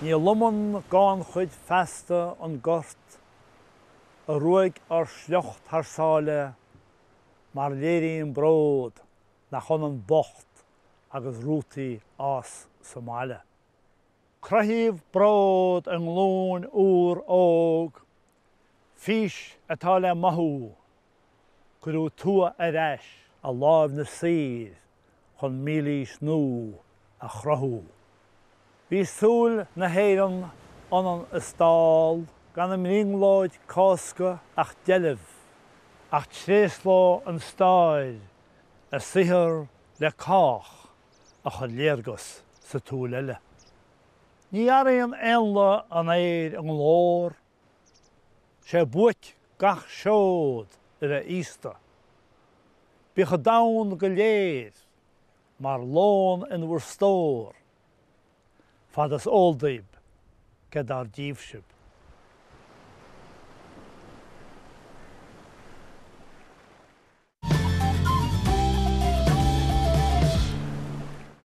Ní lomann gannchuid feasta an gort a ruaig ár sliocht thar sáile mar léiríonn bród nach ionann bocht agus rútaí fhás sa mbaile. Cruthaíodh bród i nglúin úr óg, fís atá le mothú, cuireadh tuath ar ais i láimh na saor chun mílaois nua a chruthú. Bhí súil na hÉireann ionann is dall, gan i mbrionglóid Cásca ach deilbh, ach tréaslóidh an stair a saothar le cách a chuir léargas sa tsúil eile. Ní airíonn éanlaith an aeir a nglór, 'Sé buaic gach seod a bheith aosta. Bíodh an domhan go léir mar lón in bhur stór, fad is eol daoib cé dár díobh sibh.